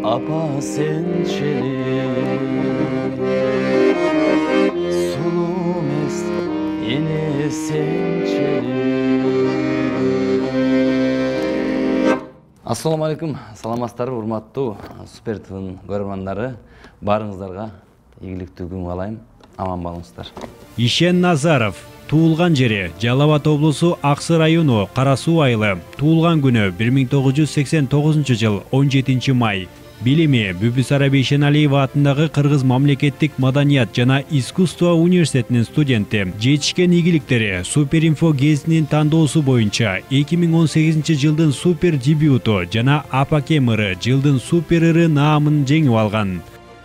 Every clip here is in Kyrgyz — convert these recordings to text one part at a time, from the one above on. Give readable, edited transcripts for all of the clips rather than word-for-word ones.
Apa sençeli Sulu mest yine sençeli. Assalamu alaikum, саламатсыздарбы урматтуу Супер ТВнын көрөрмандары. Барыңыздарга ийгиликтүү күн каалайм. Аман болуңуздар. Ишен Назаров туулган жери Жалал Абад облусу Аксы району Кара Суу айылы. Туулган күнү 1989 жыл 17 май. Билими Бүбүс Араби Ишеналиева атындагы Кыргыз мамлекеттик маданият жана искусство университетинин студенти. Жетишкен ийгиликтери Суперинфо гезитинин тандоосу боюнча 2018 жылдын супер дебюту жана Апакем ыры жылдын супер ыры наамын жеңип алган.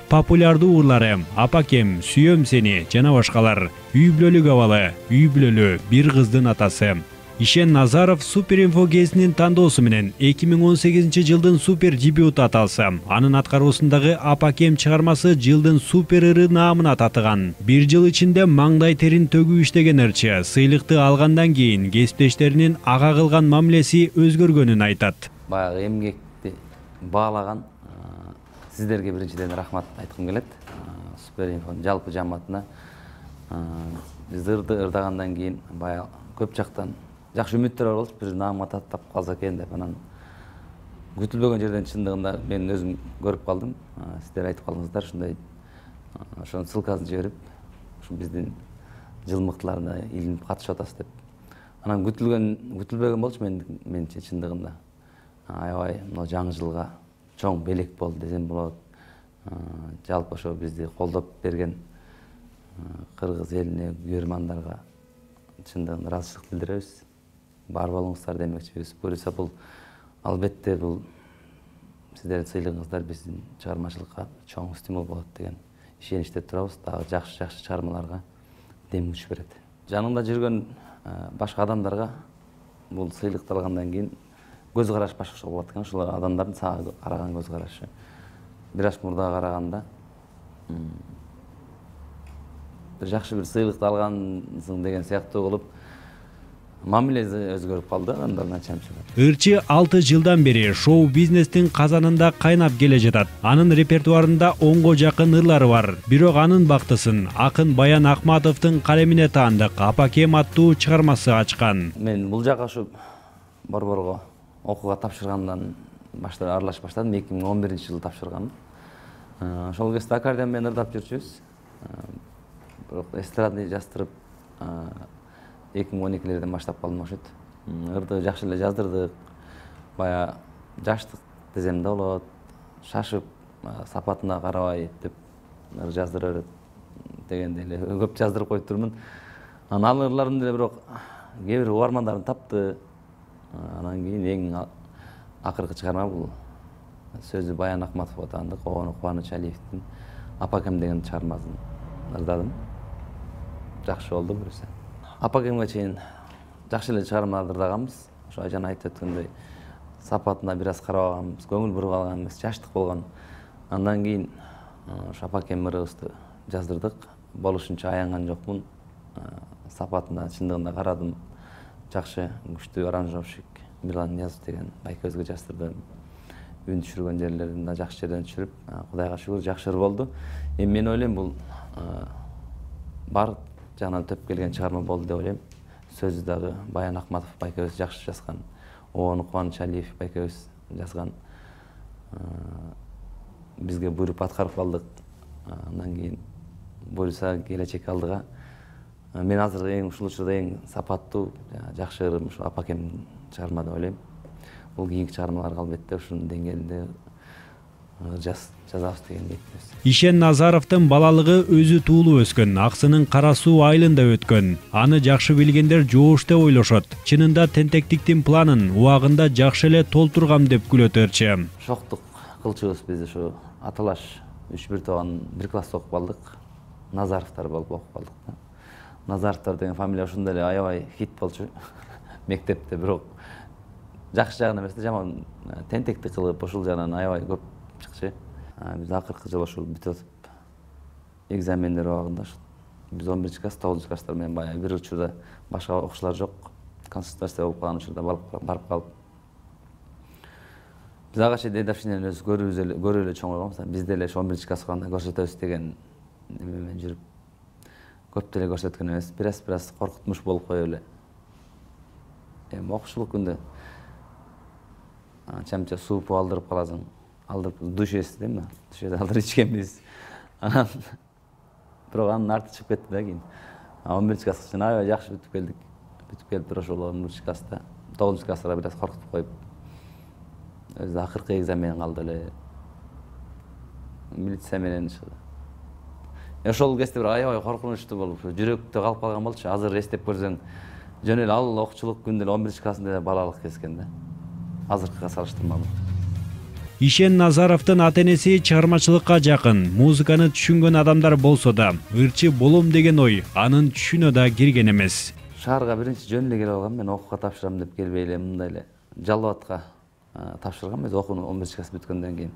Популярдуу ырлары Апакем, Сүйөм сени жана башкалар. Үй бүлөлүк абалы, үй бүлөлү бир кыздын атасы. Ишен Назаров Суперинфо гезитинин тандоосу менен 2018 жылдын супер дебюту аталса, анын аткаруусундагы Апакем чыгармасы жылдын супер ыры наамына татыган. Бир жыл ичинде маңдай терин төгүп иштеген ырчы сыйлыкты алгандан кийин кесиптештеринин ага кылган мамилеси өзгөргөнүн айтат. Баягы эмгекти баалаган сиздерге биринчиден рахмат айткым келет. Суперинфонун жалпы жамаатына биз ырдагандан кийин баягы көп жактан жакшы үмүттөр бар болчу, бир наамга таттап калса экен деп. Анан күтүлбөгөн жерден чындыгында мен өзүм көрүп калдым. Сиздер айтып калдыңыздар, ушундай ошонун ссылкасын жиберип, ушу биздин жыл мыктыларына илинип катышып атасыз деп. Анан күтүлбөгөн болчу менче чындыгында. Аябай мына жаңы жылга чоң белек болду десем болот. Жалпы ошо бизди колдоп берген кыргыз элине, көрөрмандарга чындыгында ыраазычылык билдиребиз. Бар болуңуздар демекчибиз. Буюрса бул албетте бул сиздердин сыйлыгыңыздар биздин чыгармачылыкка чоң стимул болот деген ишеничте турабыз. Дагы жакшы чыгармаларга дем күч берет. Жаныңда жүргөн башка адамдарга бул сыйлыкты алгандан кийин көз караш башкача болот экен. Ошол адамдардын сага караган көз карашы бир аз мурдага караганда бир жакшы бир сыйлыкты алгансың деген сыяктуу болуп мамилеси өзгөрүп калды адамдардын ачамчы. Ырчы 6 жылдан бери шоу бизнестин казанында кайнап келе жатат. Анын репертуарында 10го жакын ырлары бар. Бирок анын бактысын акын Баян Акматовдун калемине таандык Апакем аттуу чыгармасы ачкан. Мен бул жака ушу борборго окууга тапшыргандан баштап аралашып баштадым. 2011 жылы тапшыргам. Ошол кезде аккордеон менен ырдап жүрчүбүз. Бирок эстрадный жаздырып 2012-лерден баштап калдым окшойт. Ырды жакшы эле жаздырдык. Бая жаштык десем да болот. Шашып, сапатына карабай деп ыр жаздыра берет дегенде эле көп жаздырып коюп турмун. Анан ал ырларым деле бирок кээ бир угармандарын тапты. Анан кийин эң акыркы чыгарма бул сөзү Баян Акматовго таандык Кубаныч Алиевдин Апакем деген чыгармасын ырдадым. Жакшы болду буюрса. Апакемге чейин жакшы эле чыгармаларды ырдаганбыз. Ошо жана айтып өткөндөй сапатына бир аз карабаганбыз, көңүл буруп алганбыз, жаштык болгон. Андан кийин ошо Апакем ырыбызды жаздырдык. Болушунча аянган жокмун. Сапатына чындыгында карадым. Жакшы, күчтүү аранжировщик Милан Ниязов деген байкебизге жаздырдым. Үн түшүргөн жерлерин да жакшы жерден түшүрүп, Кудайга шүгүр жакшы болду. Эми мен ойлойм бул бар жагынан төп келген чыгарма болду деп ойлойм. Сөзү дагы Баян Акматов байкебиз жакшы жазган. Кубаныч Алиев байкебиз жазган. Бизге буйруп аткарып калдык. Андан кийин буюрса келечек алдыга мен азыр ушул учурда эң сапаттуу, жакшы ырым ушу Апакем чыгарма деп ойлойм. Бул кийинки чыгармаларга албетте ушунун деңгээлинде жазабыз деген ниетибиз. Ишен Назаровдун балалыгы өзү туулуп өскөн Аксынын Кара Суу айылында өткөн. Аны жакшы билгендер жоош деп ойлошот. Чынында тентектиктин планын убагында жакшы эле толтургам деп күлөт ырчы. Шоктук кылчубуз биз ушу аталаш 3-1 тоон бир класста окуп калдык. Назаровдор болуп окуп калдык. Назаровдор деген фамилия ошондой эле аябай хит болчу мектепте, бирок жакшы жагынан эмес да, жаман тентектик кылып ошол жагынан аябай көп чыкчы. Биз акыркы жыл ошол бүтүп атып экзамендер убагында биз 11-класс, 9-класстар менен баягы бир учурда башка окуучулар жок. Консультация болуп калган учурда барып калып Биз ага чейин дедовщинени өзү көрүп эле чоңойгонбуз. Биз деле 11 класска барганда көрсөтөбүз деген немен жүрүп көп деле көрсөткөн эмес. Бираз коркутмуш болуп коюп эле. Эми окуучулук күндө чамча супу алдырып каласың. Алдырып душ эсиз дейм да. Душеде алдырып ичкенбиз. Бирок анын арты чыгып кетти да кийин. 11 класска чейин аябай жакшы бүтүп келдик. Бүтүп келип туруп ошол 11 класста 9 класста бираз коркутуп коюп өзү акыркы экзамен калды эле. Милиция менен ошол кезде бир аябай коркунучтуу болуп, жүрөктө калып калган болчу. Азыр эстеп көрсөң, жөн эле ал окуучулук күндө 11 классында балалык кез экен да. Азыркыга салыштырмалуу. Ишен Назаровдун ата-энеси чыгармачылыкка жакын, музыканы түшүнгөн адамдар болсо да, ырчы болом деген ой анын түшүнө да кирген эмес. Шаарга биринчи жөн эле келип алгам, мен окууга тапшырам деп келбей эле мындай эле Жалал Абадка тапшыргам. Өзү окууну 11 класс бүткөндөн кийин.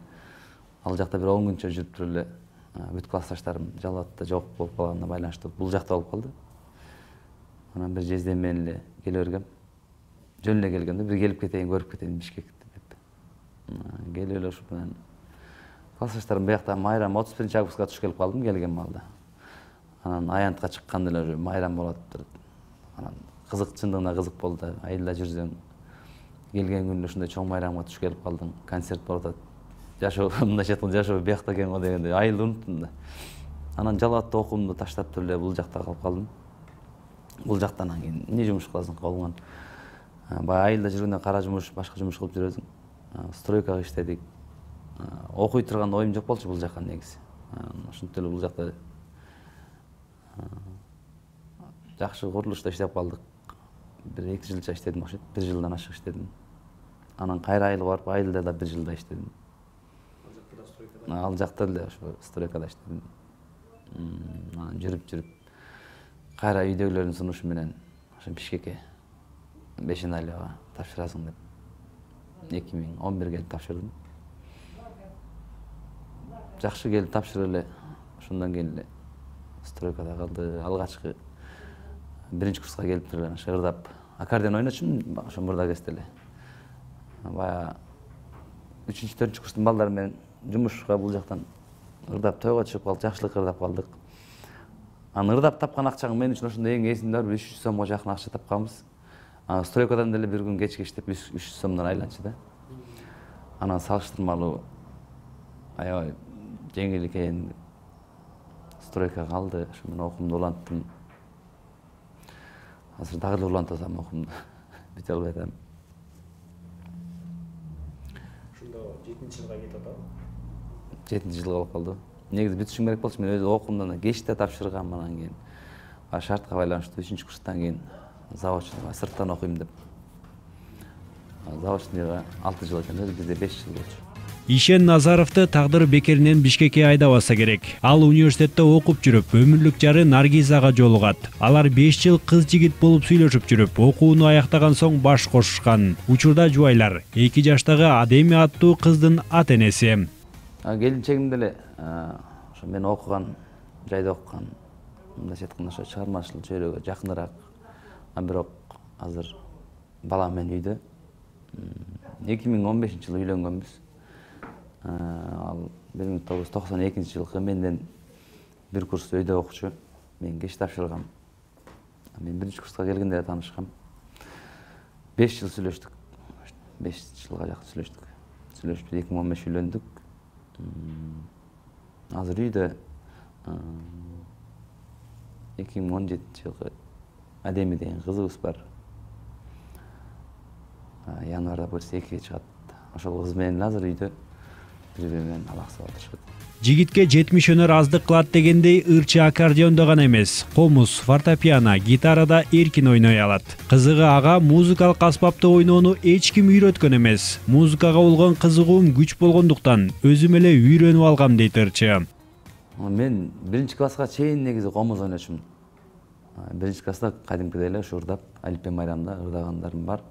Ал жакта бир 10 күнчө жүрүп туруп эле бүт классташтарым Жалал Абадта жок болуп калганына байланыштуу бул жакта болуп калды. Анан бир жездем менен эле келе бергем. Жөн эле келгенде бир келип кетейин, көрүп кетейин Бишкекти деп. Келип эле ошо менен классташтарым биякта майрам 31-августка туш келип калдым келген маалда. Анан аянтка чыкканда эле майрам болот. Анан кызык, чындыгында кызык болду. Айылда жүрсөң келген күндө ушундай чоң майрамга туш келип калдың, концерт болуп атат. Жашоо мындайча айтканда жашоо биякта экен го дегенде айылды унуттум да. Анан Жалал Абадта окуумду таштап туруп эле бул жакта калып калдым. Бул жактан кийин эмне жумуш кыласың колуңан? Баягы айылда жүргөндө кара жумуш, башка жумуш кылып жүрөсүң. Стройкага иштедик. Окуй турган оюм жок болчу бул жакка негизи. Ошентип эле бул жакта жакшы курулушта иштеп калдык. Бир 2 жылча иштедим окшойт. 1 жылдан ашык иштедим. Анан кайра айылга барып, айылда да 1 жылда иштедим. Ал жакта эле ошо стройкада иштедим. Анан жүрүп кайра үйдөгүлөрдүн сунушу менен ошо Бишкекке Бешеналияга тапшырасың деп 2011 келип тапшырдым. Жакшы келип тапшырып эле ошондон кийин эле стройкада калды. Алгачкы 1-курска келип туруп эле ырдап аккордеон ойночумун ошо мурда кезде эле. Баягы 3-4 курстун балдары менен жумушка бул жактан ырдап тойго чыгып калдык, жакшылык ырдап калдык. Анан ырдап тапкан акчаң мен үчүн ошондо эң эсимде бар 300 сомго жакын акча тапканбыз. Стройкадан деле бир күн кечке иштеп 300 сомдон айланчу да. Анан салыштырмалуу аябай жеңил экен. Стройка калды, ошо менен окуумду уланттым. Азыр дагы эле улантасам окуумду. Бүтө албай атам. Ошондо 7-жылга кетип атабы? 7-жылга болуп калды. Негизи бүтүшүм керек болчу. Мен өзү окуумдан кечте тапшыргам, анан кийин шартка байланыштуу 3-курстан кийин заочныйга сырттан окуйм деп. Заочныйга 6 жыл экен, бизде 5 жыл болчу. Ишен Назаровду тагдыр бекеринен Бишкекке айдабаса керек. Ал университетте окуп жүрүп, өмүрлүк жары Наргизага жолугат. Алар 5 жыл кыз-жигит болуп сүйлөшүп жүрүп, окууну аяктаган соң баш кошушкан. Учурда жубайлар 2 жаштагы Адеми аттуу кыздын ата-энеси. Келинчегим деле ошо мен окуган жайда окуган. Мындайча айтканда ошо чыгармачылык чөйрөгө жакыныраак. Бирок азыр балам менен үйдө. 2015-жылы үйлөнгөнбүз. Ал 1992-жылкы менден 1 курс өйдө окучу. Мен кеч тапшыргам. Мен 1-курска келгенде эле таанышкам. 5 жыл сүйлөштүк. 5 жылга жакын сүйлөштүк. 2015 үйлөндүк. Азыр үйдө 2017-жылкы Адеми деген кызыбыз бар. Январда буюрса 2-ге чыгат. Ошол кыз менен азыр үйдө бири-бири менен алаксып отурушат. Жигитке 70 өнөр аздык кылат дегендей ырчы аккордеондо гана эмес, комуз, фортепиано, гитарада эркин ойной алат. Кызыгы ага музыкалык аспапты ойноону эч ким үйрөткөн эмес. Музыкага болгон кызыгуум күч болгондуктан өзүм эле үйрөнүп алгам дейт ырчы. Мен 1-класска чейин негизи комуз ойночумун. 1-класста кадимкидей эле ушу ырдап, Алипе майрамда ырдагандарым бар.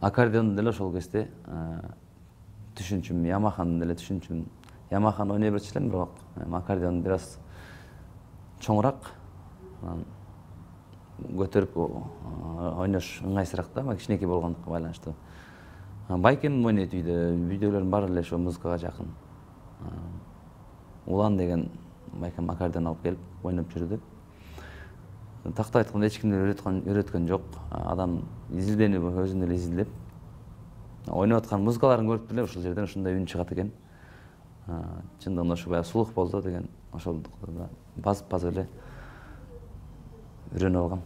Аккордеондо деле ошол кезде түшүнчүмүн, Ямаханы деле түшүнчүмүн. Ямаханы ойной берчү элем, бирок аккордеон бир аз чоңураак. Көтөрүп ойнош ыңгайсыраак да, кичинекей болгондукка байланыштуу. Байкем ойнойт үйдөгүлөрдүн баары эле ошо музыкага жакын. Улан деген байкем аккордеон алып келип ойноп жүрдү. Такты айтканда эч кимди үйрөткөн жок. Адам изилденип өзүн эле изилдеп ойноп аткан музыкаларын көрүп эле ушул жерден ушундай үн чыгат экен. Чындыгында ошо баягы сулук болду деген ошол басып эле үйрөнүп алгам.